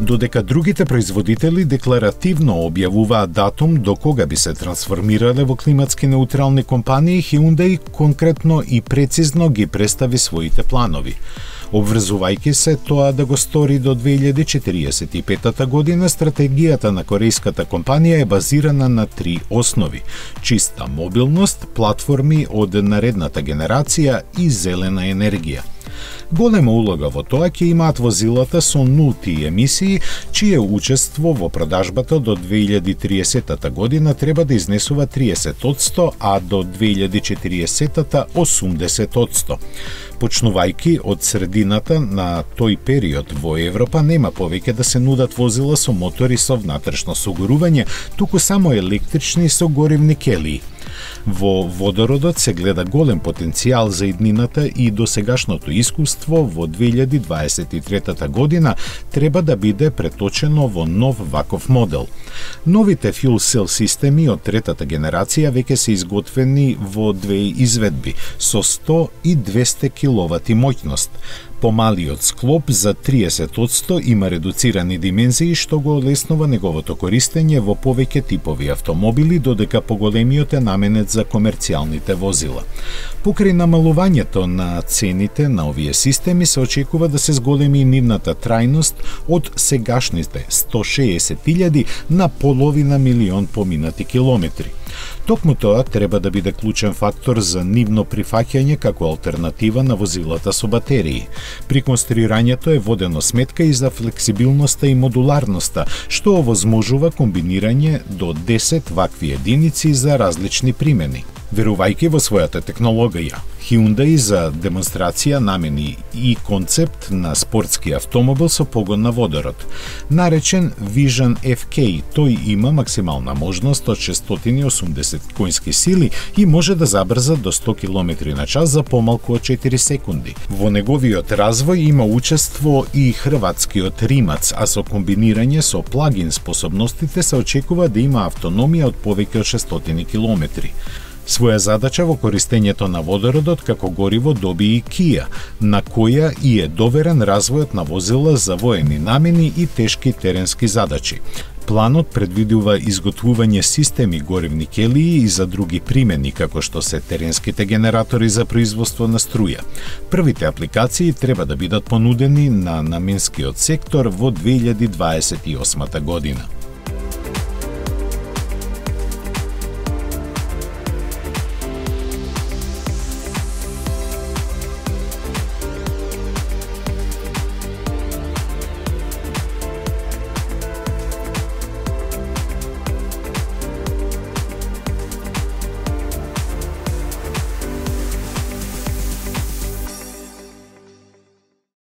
Додека другите производители декларативно објавуваат датум до кога би се трансформирале во климатски неутрални компании, Hyundai конкретно и прецизно ги представи своите планови. Обврзувајќи се тоа да го стори до 2045 година, стратегијата на корејската компанија е базирана на 3 основи: чиста мобилност, платформи од наредната генерација и зелена енергија. Голема улога во тоа ќе имаат возилата со нулти емисии, чие учество во продажбата до 2030 година треба да изнесува 30%, а до 2040 80%. Почнувајќи од средината на тој период во Европа нема повеќе да се нудат возила со мотори со внатрешно согорување, туку само електрични со горивни келии. Во водородот се гледа голем потенцијал за иднината и досегашното искуство во 2023 година треба да биде преточено во нов ваков модел. Новите fuel cell системи од третата генерација веќе се изготвени во 2 изведби со 100 и 200 киловати моќност. Помалиот склоп за 30% има редуцирани димензии, што го олеснува неговото користење во повеќе типови автомобили, додека поголемиот е наменет за комерцијалните возила. Покрај намалувањето на цените на овие системи се очекува да се зголеми нивната трајност од сегашните 160.000 на половина милион поминати километри. Токму тоа треба да биде клучен фактор за нивно прифаќање како алтернатива на возилата со батерии. При конструирањето е водено сметка и за флексибилноста и модуларноста, што овозможува комбинирање до 10 вакви единици за различни примени. Верувајќи во својата технологија, Hyundai за демонстрација намени и концепт на спортски автомобил со погон на водород. Наречен Vision FK, тој има максимална можност од 680 коњски сили и може да забрза до 100 км на час за помалку од 4 секунди. Во неговиот развој има учество и хрватскиот Римац, а со комбинирање со плагин способностите се очекува да има автономија од повеќе од 600 км. Своја задача во користењето на водородот како гориво доби и Kia, на која и е доверен развојот на возила за воени намени и тешки теренски задачи. Планот предвидува изготвување системи горивни келии и за други примени, како што се теренските генератори за производство на струја. Првите апликации треба да бидат понудени на наменскиот сектор во 2028 година.